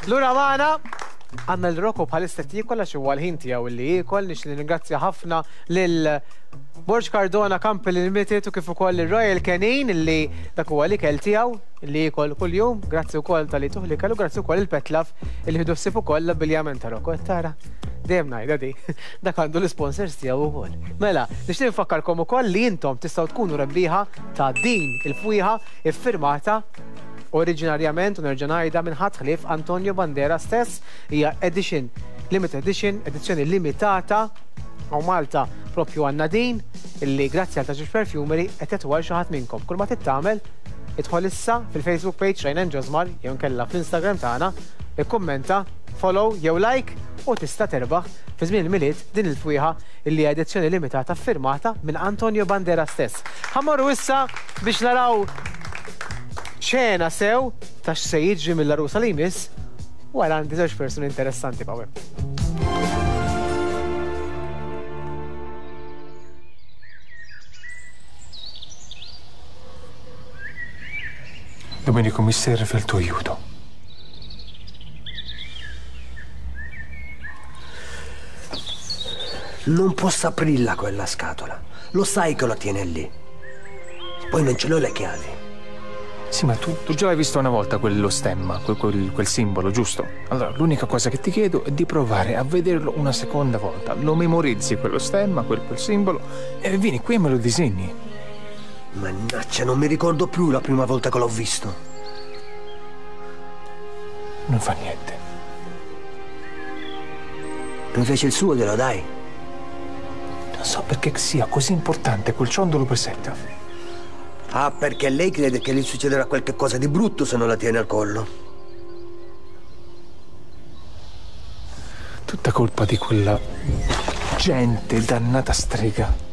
Lura magħna għandna lil Rocco bħalissa qed jiekol għax huwa l-ħin tiegħu li jiekol. Nixtieq nirringrazzja ħafna lil Borg Cardona Company Limited u kif ukoll lil Royal Canin li dak huwa l-ikel tiegħu li jiekol kuljum. Grazzi wkoll talli tuh l-ikel u grazzi wkoll lil Petlaf li ħdu ħsieb ukoll l-abbiljament ta' Rocco. Qed tara? Dejjem ngħidha di. Dak għandu l-isponsors tiegħu wkoll. Mela, nixtieq nfakkarkom ukoll li intom tistgħu tkunu rebbieħa ta' din il-fwieħa iffirmata oriġinarjament u nerġa' ngħidha minn ħadd ħlief Antonio Bandera stess, hija edition, limited edition, edizzjoni limitata hawn Malta propju għandna din illi grazzi għal Taġiex Perfumery qed jagħtuha lil xi ħadd minnkom. Kull ma trid tagħmel idħol issa fil-Facebook page Ryan and Josmar jew inkella fl-Instagram tagħna, ikkummenta, follow jew like u tista' terbaħ fi żmien il-Milied din il-fwieħa illi hija edizzjoni limitata ffirmata minn Antonio Bandera stess. Ħa mmorru issa biex naraw xena sew ta' x'se jiġri mill-għarusa li jmiss wara għandi żewġ persuni interessanti b'hawn. Domenico, mi serve il tuo aiuto. Non posso aprirla quella scatola. Lo sai che la tiene lì. Poi non ce l'ho le chiavi. Sì, ma tu, tu già l'hai visto una volta quello stemma, quel, quel, quel simbolo, giusto? Allora, l'unica cosa che ti chiedo è di provare a vederlo una seconda volta. Lo memorizzi quello stemma, quel, quel simbolo, e vieni qui e me lo disegni. Mannaggia, non mi ricordo più la prima volta che l'ho visto. Non fa niente. Invece il suo glielo dai. Non so perché sia così importante quel ciondolo per Setta. Ah, perché lei crede che gli succederà qualche cosa di brutto se non la tiene al collo. Tutta colpa di quella gente dannata strega.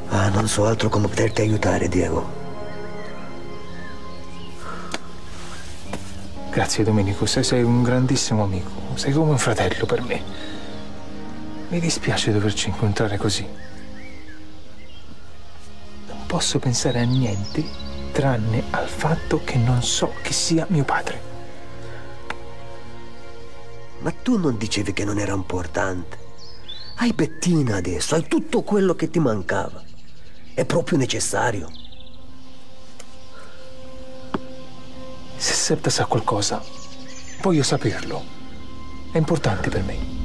Ah, non so altro come poterti aiutare, Diego. Grazie Domenico, sei, sei un grandissimo amico, sei come un fratello per me. Mi dispiace doverci incontrare così. Non posso pensare a niente tranne al fatto che non so chi sia mio padre. Ma tu non dicevi che non era importante? Hai Bettina adesso, hai tutto quello che ti mancava. È proprio necessario. Se Septa sa qualcosa, voglio saperlo. È importante per me.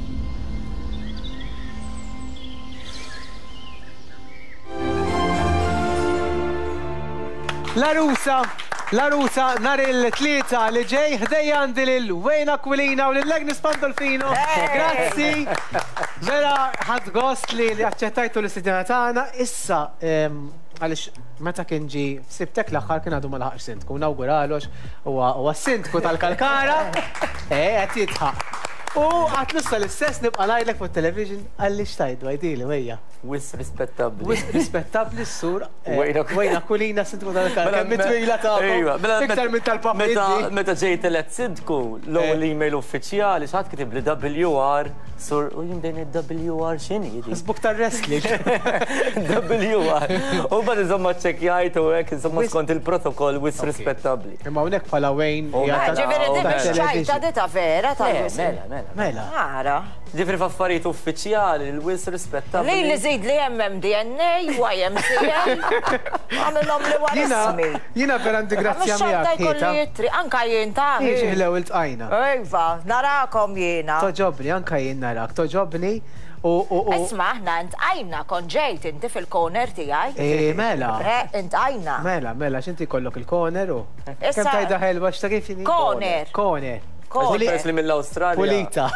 L-għarusa, l-għarusa nhar il-Tlieta li ġej ħdejja għandi lil Wayne Aquilina u lil Agnes Pandolfino. Grazzi. Vera ħadt gost li aċċettajtu l-istedina tagħna. Issa għaliex meta kien ġie f'sibtek l-aħħar kien għadu ma laħaqx sindku. Nawguralu għax huwa s-sindku tal-Kalkara. Eh, qed jidħaq. U għatlu issa l-istess nibqa' ngħidlek fuq television qalli x'tgħidlu għidili wejja. Wisq rispettabbli. Wisq rispettabbli s-sur Wayne Aquilina sindku tal-Kalkara. Kemm twila tagħkom. Iva, mela Iktar minn tal-Papa Meta meta ġejt elett sindku, l-ewwel eh. email uffiċjali xi ħadd kitibli WR sur u jien bdejn WR x'inhi di? Sbuk tar-wrestling. WR. U mbagħad insomma ċċekkjajt u hekk insomma skont il-protokoll wisq rispettabbli. Imma hawnhekk bħala Wayne hija ta' Ġifieri di mhix ċajta di ta' vera ta' Mela, mela. Mela. Ara. Ġifieri f'affarijiet uffiċjali l-wisq rispettabbli. Lili żidli MMDNA, YMCA, għamilhom li wara ismi. Jiena vera għandi grazzja Mhux xorta miegħek, jkolli Ħita. ittri, anka jien ta'. Hi xi ħlew iltqajna. Iva, narakom jiena. Togħġobni, anka jien narak, togħġobni u u u. Isma' aħna intqajna, kont ġejt inti fil-corner tiegħi. Eh, mela. Eh, intqajna. Mela, mela, għax inti jkollok il-corner u. Issa. Kemm tgħidha ħelwa x'ta' kif inhi? Corner. Corner. Corner. Peress li mill-Awstralja. Pulita.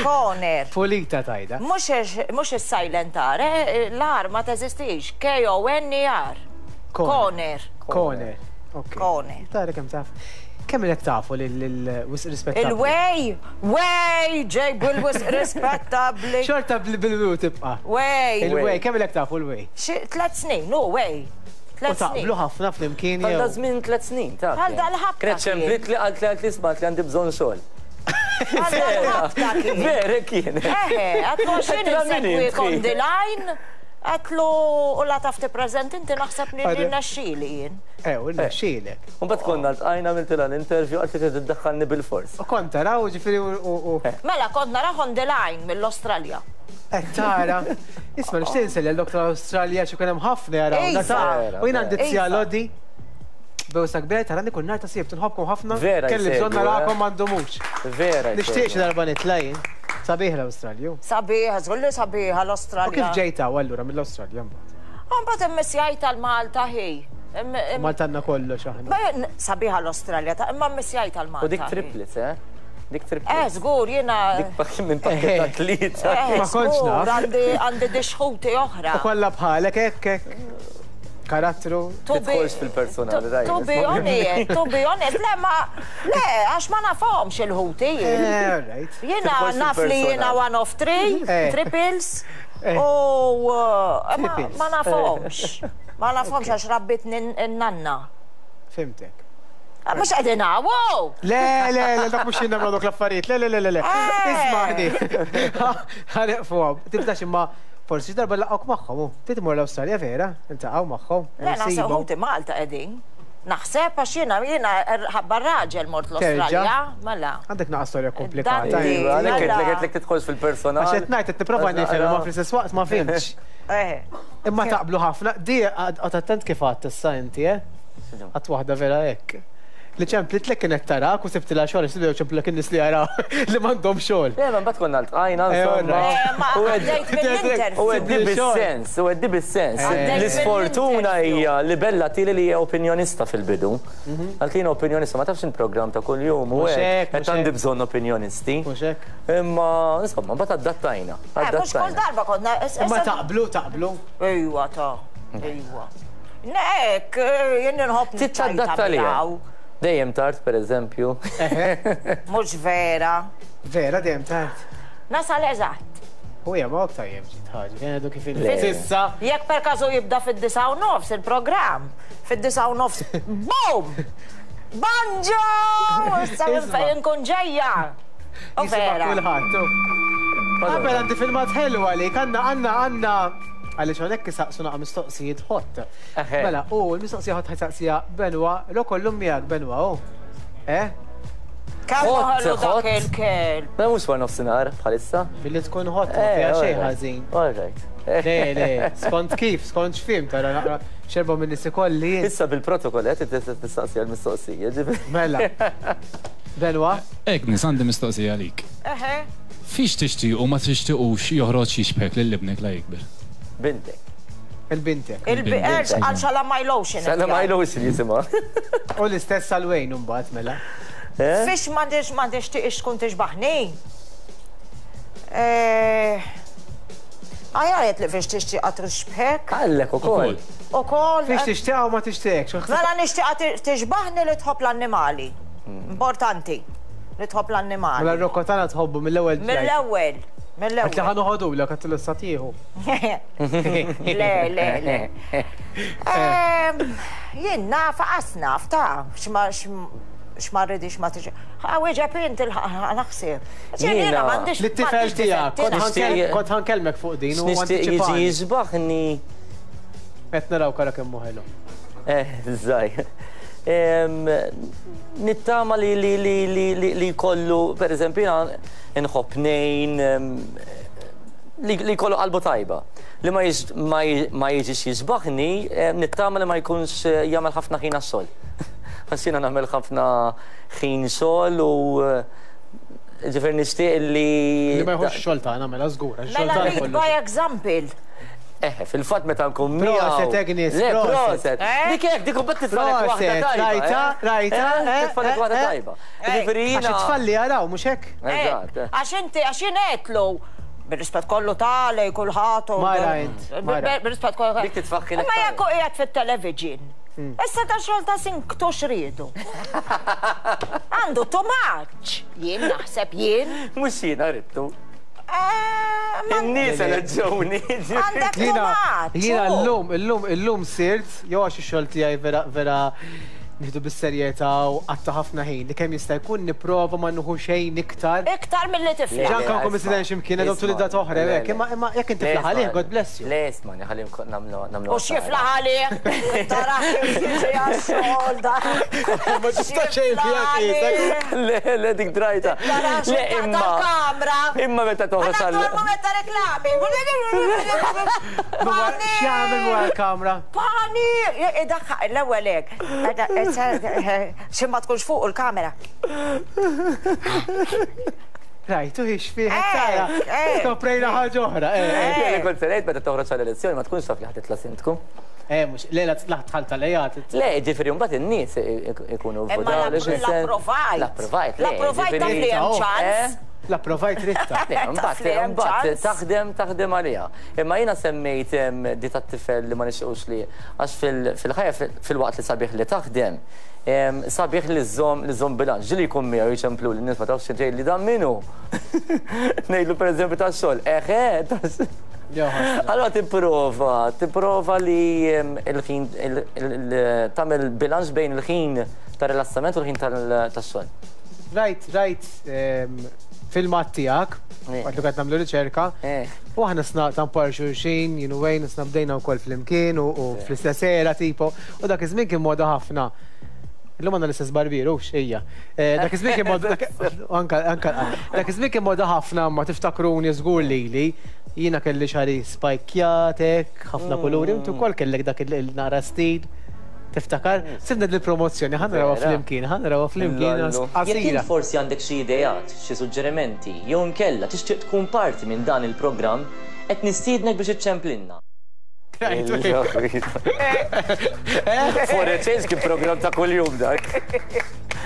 Corner. Pulita tgħidha. Mhux mhux is-silent R, eh, l-R ma teżistix. K-O-N-E-R. Corner. Corner. Ok. Corner. Tara kemm taf. Kemm ilek tafu lil wisq rispettabbli? Il-way, way, ġej bil-wisq rispettabbli. Xorta bil-wi tibqa'. Way. Il-way, kemm ilek tafu l-way? Xi tlet snin, hu way. U taqblu ħafna flimkien jew? Għal daż-żmien tlet snin, taf. Għal dal-ħabta. Kienet ċemplitli qaltli qaltli isma' qaltli għandi bżonn xogħol. Għal dal-ħabta kien. Vera kien. Eħe, għatlu għax jien insegwik on the line. Għedtlu u la taf tippreżenti inti naħseb li rnexxieli jien. Eh, u rnexxielek. U mbagħad konna ltqajna għamiltilha l-interview qaltli trid iddaħħalni bilfors. U kont taraw ġifieri u. Mela kont narah on the line mill-Awstralja. Qed tara. Isma' nixtieq insellem lil Dr. Awstralja għax ikun hemm ħafna jarawna ta' U jien għandi t-tja Lodi. Bewsa kbira tarani kull nhar ta' Sibt nħobbkom ħafna. Vera Kelli bżonn jsegwu, eh? narakom ma ndumux. Vera Nixtieq xi jsegwu. darba nitla' jien. Sabiħ l-Awstralja. Sabiħ, żgur li sabiħa U kif l-Awstralja. ġejt hawn allura mill-Awstralja mbagħad? U mbagħad immissjajt għal Malta ħi. Malta għandna kollox aħna. Ma sabiħa l-Awstralja ta' imma mmissjajt għal Malta. U dik triplets, eh? Dik Eh, triplets. żgur jiena. Dik minn pakket ta' tlieta. Eh, Ma kontx żgur, naf. għandi għandi dixħuti oħra. U kollha bħalek hekk hekk. Karattru. Tidħolx fil-personali, daj. To be honest, to be honest, le ma, le, għax ma nafhomx il-ħuti. Eh, all right. Jiena Tidħolx naf li jiena fil-personal. one of three, Eh. triples, Eh. u eh, ma Triples. ma nafhomx. Ma nafhomx għax rabbitni n-nanna. Fimtek. Ah, Mhux qegħdin hawn! Le, le, le, dak mhux jien nagħmlu dawk l-affarijiet. Le, le, le, le, le. Eh. Ismagħni. Ħaneqfu hawn. Tibdax imma forsi xi darba nlaqgħuk magħhom. hu. Trid tmur l-Awstralja vera? Niltaqgħu magħhom. Le, naħseb Nsibhom. ħuti Malta qegħdin. Naħseb għax jiena jiena ħabba raġel mort l-Awstralja, mela. Għandek naqa' storja komplikata. Daddy. inti. Iva, għalhekk Mela. għedtlek għedtlek tidħolx fil-personal. Għax qed ngħid qed nipprova nifhem imma fl-istess waqt ma fhimtx. Eh. Imma taqblu ħafna. Di qgħod attent kif għadt issa inti, eh? Għadt waħda vera hekk. Li ċemplitlek kienet tarak u sibtilha xogħol għax tibdew ċemplulek in-nies li jaraw li m'għandhom xogħol. Le, ma mbagħad konna ltqajna Eh, insomma. Eh, ma U għed- għaddejt mill-interview. U għeddi bis-sens, u għeddi bis-sens. Għaddejt L-isfortuna mill-interview. hija li Bella tili li hija opinjonista fil-bidu. Għalt opinjonista, ma tafx il-programm ta' kuljum u Mhux hekk. hekk, Qed mhux għandi hekk. bżonn opinjonisti. Mhux hekk? Imma insomma, mbagħad adattajna. Eh, Mhux kull Adattajna. darba konna. Imma taqblu, taqblu. Ejwa ta' ejwa. Nek, eh, jien nħobb Titadatta li. miegħu. Dejjem tard, per eżempju. Mhux vera. Vera dejjem tard. Nasal eżatt. U hija ma tajjeb ġiet ħaġa, kien għadu kif Le. Sissa. Jekk per każu jibda fid-9:30 il-programm, fid-9:30, boom! Banjo! Issa minn Isma'. fejn nkun ġejja. U Jisma' vera. kulħadd. u. Qabel għandi filmat ħelu għalik, għandna għandna għandna għaliex hawnhekk isaqsu naqa' mistoqsijiet ħott. Eħe. Mela, u l-mistoqsija ħott ħajsaqsija Benwa, lo kollum miegħek Benwa, u. Eh? Kemm Ħott, ħallu dak ħott. il-kelb. Ma mhux war nofsinhar bħalissa. Billi tkun ħott ma fiha xejn ħażin. All right. Le, le, skont kif, skont x'fim, tara naqra xerba minn nies ikolli jien. Issa bil-protokoll qed tistaqsi għall-mistoqsija, ġifieri. Mela. Benwa, Agnes, għandi mistoqsija għalik. Eħe. Fiex tixtieq u ma tixtiequx joħroġ jixbhek lil ibnek la jikber? Bintek. il-bintek. Il-biqer għal xala my lotion. Sala ma ilux li jisimha. U l-istess għal Wayne mbagħad mela. Eh? Fiex ma nix ma nixtieqx tkun tixbaħni. Eh, Għajaret li fiex tixtieqa tixbħek. Għallek ukoll. Ukoll. Fiex tixtieq u ma tixtieqx. Mela nixtieqa tixbaħni li tħobb l-annimali. Importanti. Li tħobb Mela l-annimali. r-rokko tagħna tħobbu mill-ewwel. Mill-ewwel. Għat li Mill-ewwel. ħa noħodulek għat l tieħu. Le, le, le. Ehm, Jien naf, qas naf, ta' x'ma x'ma rridix ma tiġi. Għawieġeb int il-naħseb. Jiena Jiena- m'għandix. L-tifel m'għandix tiegħek, kont difetti, ħankel- kont ħankellmek fuq din u Nixtieq jiġi antiċipani. jiġbaħni. Qed naraw kara kemm hu ħelu. Eh, żaj. Em, Nittama li li li li li li kollu, per eżempju, jiena nħobb nejn, em, li li kollu qalbu tajba. Li ma jiġ- ma jiġ- ma jiġix jiġbaħni, em, nittama li ma jkunx eh, jagħmel ħafna ħin għas-sol. Għax jiena nagħmel ħafna ħin xogħol u eh, ġifier nixtieq li. Li ma jħux xogħol tagħna mela żgur, għax xogħol Mela tagħna lead kollu. by example. Eh, fil-fatt meta nkun Proset, miegħu. Agnes, Le, proset. proset. Eh? Dik hekk, dik imbagħad titfalek waħda Proset, tajba. rajta, eh? rajta, Eh, eh, Titfalek eh, waħda eh. tajba. Eh. Ġifieri Għax jiena. it-tfal li jaraw, mhux hekk? Eżatt. eh. Għax inti, għax jien għedtlu, bir-rispett kollu tali, kulħadd. u- Mara int, mara. Bir-rispett kollu. Dik titfakkilek Ma tajba. jekk hu qiegħed fit-television. Issa ta' xogħol ta' sinktu xriedu. Għandu too much. Jien naħseb jien. Mhux jiena rittu. Eh, ma- In-nies eleġġewni. Għandek too Jiena much. jiena u. llum, illum, illum sirt, jew għax ix-xogħol tiegħi vera vera nieħdu bis-serjetà u qatta' ħafna ħin li kemm jista' jkun nipprova ma nieħu xejn iktar. Iktar milli tiflaħ. Ġa anke nkun mistieden xi mkien għedhom tul id-data oħra jew hekk, imma imma jekk inti tiflaħ għalih, God bless you. Le ismagħni ħalli nagħmlu nagħmlu. U x'jiflaħ għalih? Tara kif jiġi għax-xogħol da. Ma tista' xejn fiha qiesek. Le, le dik drajta. Le imma. Kamra. Imma meta toħroġ għal. Mument ta' reklami. X'jagħmel wara l-kamra? Pani! Idaħħaq l-ewwel hekk. Xi ma tkunx fuq il-kamera. Rajtu hix fih tara. Skoprejna ħaġa oħra. Li kont se ngħid meta toħroġ għall-elezzjoni ma tkunx taf li ħa titla' sindku. Eh, mhux, le la tħall tal-ejat. Le, ġifieri mbagħad in-nies ikunu votaw. L-approvajt. L-approvajt. L-approvajt taf li hemm ċans. L-approvajt ritta. Mbagħad mbagħad taħdem taħdem għaliha. Imma jiena semmejt di tat-tifel li ma nixtiequx li għax fil-ħajja filwaqt li sabiħ li taħdem, sabiħ li żżomm li żżomm bilanċ. Ġieli jkun miegħu jċemplu li n-nies ma tafx ġej li dan min hu. Ngħidlu pereżempju tax-xogħol, eħe, Allora tipprova, tipprova li il-ħin tagħmel bilanċ bejn il-ħin ta' rilassament u l-ħin tax-xogħol. Rajt, rajt filmat tiegħek, waqt li qed nagħmlu riċerka, u aħna sna tampar xulxin, jien u Wayne, sna bdejna wkoll flimkien u fl-istess era tipo, u dak iż-żmien kien moda ħafna. Illum għandna l-istess barbier, hux, ejja. Dak iż-żmien kien moda, anka, anka, dak iż-żmien kien moda ħafna, ma tiftakruni żgur lili, jiena kelli xagħri spajkjat hekk, ħafna kuluri, inti wkoll kellek dak il-naqra stil. Tiftakar? Sibna din il-promozzjoni, ħa narawha flimkien, ħa narawha flimkien Jekk int forsi għandek xi ideat, xi suġġerimenti, jew inkella tixtieq tkun parti minn dan il-programm, qed nistiednek biex iċċemplilna. For a change kien programm ta' kuljum dak.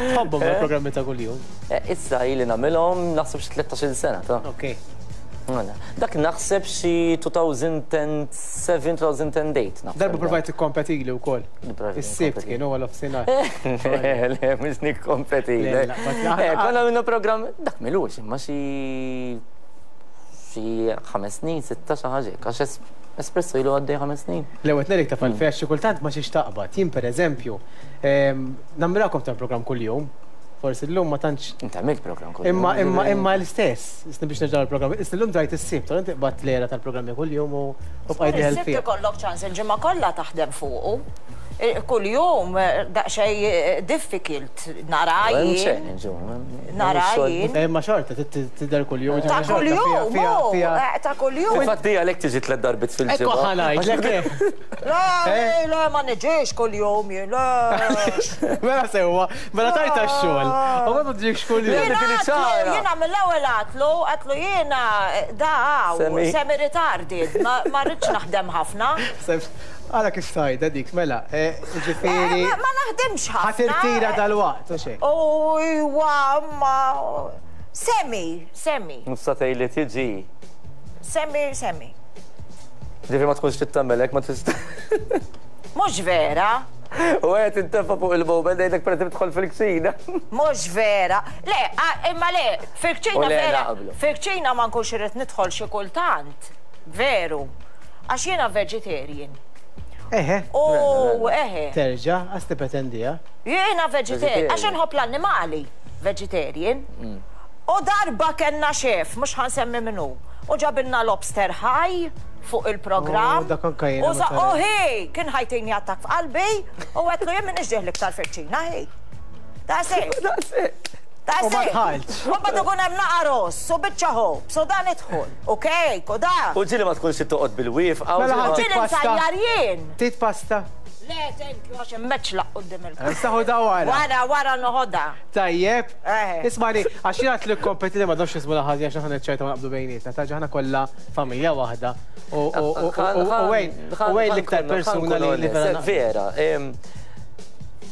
Tħobbhom il-programmi ta' kuljum? Issa ili nagħmilhom naħseb xi 13-il sena ta'. Okej. Mela, dak naħseb xi 2007, 2008 naħseb. Darba provajt tikkompetili wkoll. Is-Sibt kien huwa l-offsinhar. Le, le, mhux nikkompetili. Konna minnu programm, dak milux, imma xi xi ħames snin, sitta xi ħaġa hekk, għax Espresso ilu għaddej ħames snin. L-ewwel ngħidlek taf għalfejn għax xi kultant ma xiex taqbad. Jien pereżempju, nammirakom tal-programm kuljum, forsi llum ma tantx. Inti għamilt programm kuljum. Imma imma imma l-istess, isni biex nerġa' l-programm, isni llum drajt is-Sibt, allura inti qbadt l-era tal-programmi kuljum u bqajt dieħel Is-Sibt fih. ikollok ċans il-ġimgħa kollha taħdem fuqu. Kuljum daqsxejn difficult nara Hemm jien. challenge, hu, hemm Nara xogħol. jien. Imma xorta trid tidher kuljum, Ta' ġifieri xorta fiha kuljum, fiha hu, fiha. ta' kuljum. Fil-fatt hi għalhekk tiġi tliet darbiet Ekku fil-ġimgħa. ħa ngħidlek, eh. Le, le, ma niġix kuljum jien, le. Mela sewwa, mela tajtha x-xogħol. U ma tiġix kuljum. Jiena għatlu, jiena mill-ewwel għatlu, għatlu jiena da hawn, semi retarded, ma rridx naħdem ħafna. Ara kif tgħidha dik, mela, ġifieri. Ma naħdimx ħafna. Ħa tirtira dalwaqt, u xejn. U iwa, ma semi, semi. Mhux sa tgħidli tiġi. Semi, semi. Ġifieri ma tkunx trid tagħmel hekk, ma tista'. Mhux vera. U qed intefa' fuq il-mobile ngħidlek pereżempju tidħol fil-kċina. Mhux vera. Le, imma le, fil-kċina vera. Fil-kċina ma nkunx irrid nidħol xi kultant. Veru. Għax jiena vegetarian. Eħe. U eħe. Terġa' għax tippretendiha. Jiena vegetarian, għax inħobb l-annimali, vegetarian. U darba kellna chef, mhux ħa nsemmi min hu, u ġabilna lobster ħaj fuq il-programm. Oh, dak anke jiena U sa- meta u hi, kien ħajtini attakk f'qalbi, u għedtlu jien m'iniex dieħel iktar fil-kċina, hi. Daqshekk. Daqshekk. Daqshekk. U ma dħaltx. U mbagħad ikun hemm naqa' ross u biċċa ħobż u dan idħol, u kejk u da. U ġieli ma tkunx trid toqgħod bil-wieqfa. u Mela ġieli ma- ħa Ġieli pasta. nsajjar jien. Trid pasta? Le, thank you, għax immeċlaq quddiem il-kamera. Issa ħudha wara. Wara, wara noħodha. Tajjeb. Eh. Ismani, għax jien għedt li kompetiti ma nafx ismu ħażin għax aħna niċċajta ma naqbdu bejnietna. Ta' ġaħna kollha familja waħda. U wejn, u wejn l-iktar persuna li vera. Vera.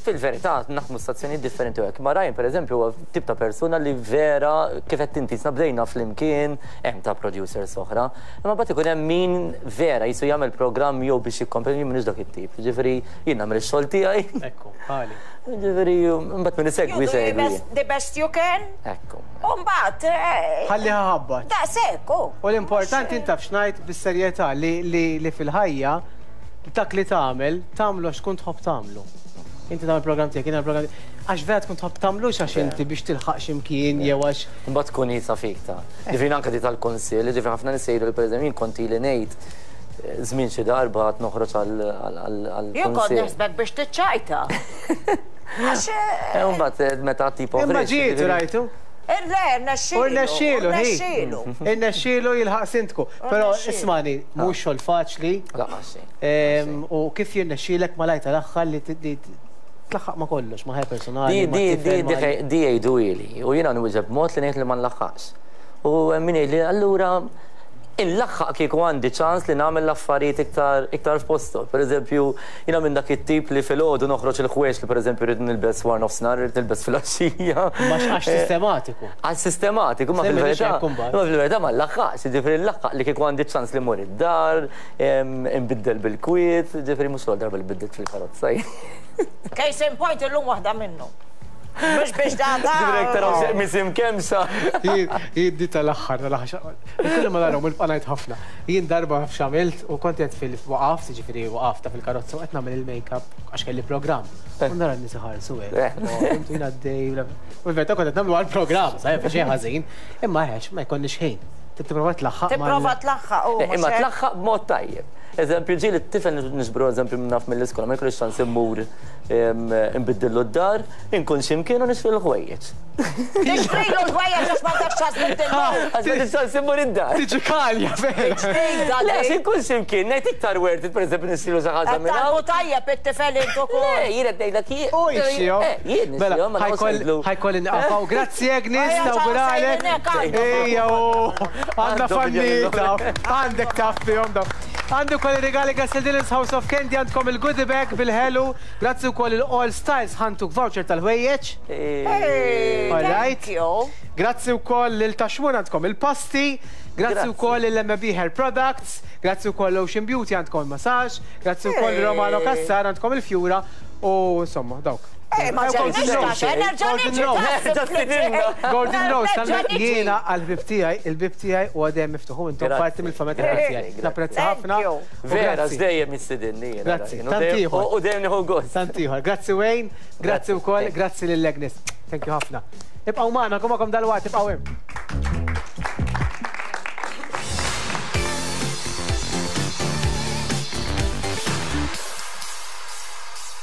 Fil-verità, naħdmu stazzjonijiet differenti u hekk. Ma Ryan, pereżempju, huwa tip ta' persuna li vera kif qed inti sna bdejna flimkien, hemm ta' producers oħra. Imma mbagħad ikun hemm min vera jisu jagħmel programm jew biex jikkompeti jien m'iniex dak it-tip. Jiġifieri jien nagħmel ix-xogħol tiegħi. Ekku, bħali. Jiġifieri mbagħad min isegwi jsegwi. The best you can. Ekku. U mbagħad. Ħalliha ħabbat. Daqshekk, hu. U l-importanti int taf x'ngħid bis-serjetà li fil-ħajja dak li tagħmel, tagħmlu għax tkun tħobb tagħmlu. Inti tagħmel programm tiegħek, jiena programm Għax vera tkun tħobb tagħmlux għax inti biex tilħaq xi mkien jew għax. Imbagħad tkun iebsa fik ta'. Ġifieri anke di tal-kunsill, ġifieri ħafna nies jgħidu li pereżempju jien kont ili ngħid żmien xi darba għad noħroġ għall-kunsill. Jien kont naħsbek biex tiċċajta. Għax. Imbagħad meta tipo. Imma ġiet rajtu. Le, rnexxielu. U rnexxielu, hi. Irnexxielu jilħaq sindku. Però ismagħni, mhux xogħol faċli. Lanqas xejn. U kif jirnexxielek malajr tal-aħħar li tlaħħaq ma' kollox, ma' ħajja personali, ma' tifel. Di jgħiduhieli u jiena nwieġeb b'mod li ngħid li ma nlaħħaqx. U hemm min jgħidli allura inlaħħaq kieku għandi ċans li nagħmel l-affarijiet iktar iktar f'posthom. Pereżempju, jiena minn dak it-tip li filgħodu noħroġ il-ħwejjeġ li pereżempju rrid nilbes wara nofsinhar, irrid nilbes filgħaxija. Ma għax sistematiku. Għax sistematiku, ma fil-verità. Ma fil-verità ma nlaħħaqx, jiġifieri nlaħħaq li kieku għandi ċans li mmur id-dar, inbiddel bil-kwiet, jiġifieri mhux l-ewwel darba li biddilt fil-karozza. Case in point illum waħda minnhom. Mhux biex da da. Ġifieri taraw x'misim kemm sa. Jien di tal-aħħar tal-aħħar. Kulli ma narahom nibqa' ngħid ħafna. Jien darba naf x'għamilt u kont qed fil waqaft, jiġifieri waqaft ta' fil-karozza u qed nagħmel il-makeup għax kelli programm. U nara n-nies iħarsu hekk. Intu jien għaddej. U l-verità kont qed nagħmlu għall-programm, sa jaf xejn ħażin. Imma għex ma jkollniex ħin. Tipprova tlaħħaq. Tipprova tlaħħaq u. Imma tlaħħaq b'mod tajjeb. Eżempju, ġieli t-tifel niġbru eżempju minn naf mill-iskola, ma jkollix ċans immur inbiddillu d-dar, inkun xi mkien u nixtri l-ħwejjeġ. Tixtrilu l-ħwejjeġ għax m'għandekx ċans tbiddillu. Għax m'għandix ċans immur id-dar. Tiġi kalja vera. Le, għax inkun xi mkien, ngħid iktar worth it pereżempju nixtrilu xi ħaġa minn hawn. Qed tgħallmu tajjeb it-tifel int ukoll. Le, jien qed ngħidlek jien. U jixtrihom. Eh, jien nixtrihom, ma noqgħodx ngħidlu. Ħa jkolli nieqaf hawn. Grazzi Agnes, nawguralek. Ejja u għandna fannita. Għandek taf fihom dawn. Għandi wkoll ir-rigali grazzi lil Dylan's House of Candy għandkom il-goodie bag bil-ħelu. Grazzi wkoll il All Styles ħantuk voucher tal-ħwejjeġ. All right. Grazzi wkoll lil Taxmun għandkom il-pasti. Grazzi wkoll lil MB Hair Products. Grazzi wkoll Ocean Beauty għandkom il-massage. Grazzi wkoll Romano Cassar għandkom il-fjura u insomma dawk. Eh, ma ġenix ta' nerġa' niġi. Golden Rose, jiena għal-bib tiegħi, il-bib tiegħi u għadem miftuħ u intom parti mill-familja tiegħi. Napprezza ħafna. Vera, dejjem jistidinni. Grazzi. Tant ieħor. U dejjem nieħu gost. Tant ieħor. Grazzi Wayne, grazzi wkoll, grazzi lil Agnes. Thank you ħafna. Ibqgħu magħna, kummakom dalwaqt, ibqgħu hemm.